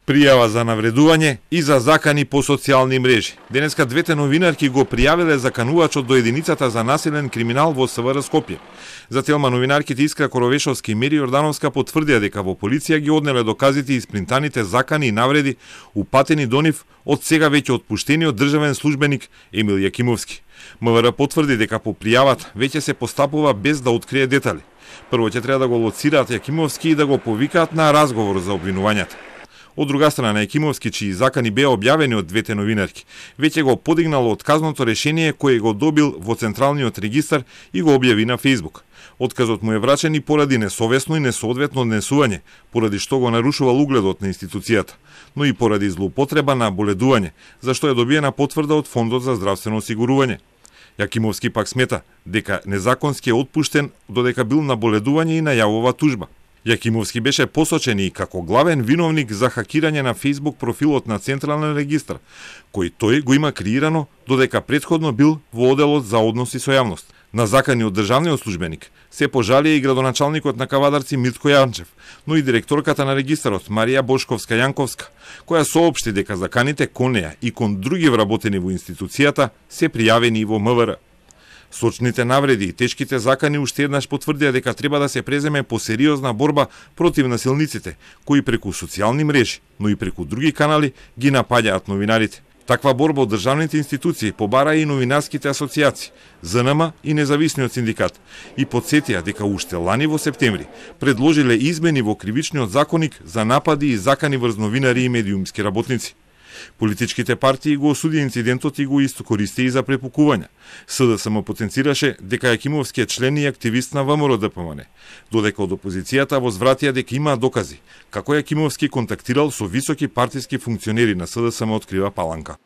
Пријава за навредување и за закани по социјални мрежи. Денеска двете новинарки го пријавиле заканувачот до единицата за насилен криминал во СВР Скопје. За целма новинарките Искра Коровешовски и Мири Јордановска потврдија дека во полиција ги однеле доказите и испринтаните закани и навреди упатени до нив од сега веќе отпуштениот државен службеник Емил Јакимовски. МВР потврди дека по пријавата веќе се постапува без да открие детали. Прво ќе треба да го лоцираат Јакимовски и да го повикаат на разговор за обвинувањата. Од друга страна, Јакимовски, чии закани беа објавени од двете новинарки, веќе го подигнал отказното решение кое го добил во Централниот регистар и го објави на Фејсбук. Отказот му е врачен и поради несовесно и несоодветно однесување, поради што го нарушувал угледот на институцијата, но и поради злоупотреба на боледување, за што е добиена потврда од Фондот за здравствено осигурување. Јакимовски пак смета дека незаконски е отпуштен додека бил на боледување и најавува тужба. Јакимовски беше посочен и како главен виновник за хакирање на Фејсбук профилот на Централен регистар, кој тој го има креирано додека претходно бил во оделот за односи со јавност. На закани од државниот службеник се пожалија и градоначалникот на Кавадарци Митко Јанчев, но и директорката на регистарот Марија Бошковска Јанковска, која соопшти дека заканите кон неа и кон други вработени во институцијата се пријавени и во МВР. Сочните навреди и тешките закани уште еднаш потврдија дека треба да се преземе посериозна борба против насилниците, кои преку социјални мрежи, но и преку други канали ги напаѓаат новинарите. Таква борба од државните институции побара и новинарските асоцијации, ЗНМ и независниот синдикат, и подсетија дека уште лани во септември предложиле измени во кривичниот законник за напади и закани врз новинари и медиумски работници. Политичките партии го осуди инцидентот и го користи и за препукувања. СДСМ потенцираше дека Јакимовски е член и активист на ВМРО-ДПМН, додека од опозицијата возвратија дека има докази како Јакимовски контактирал со високи партиски функционери на СДСМ, открива Паланка.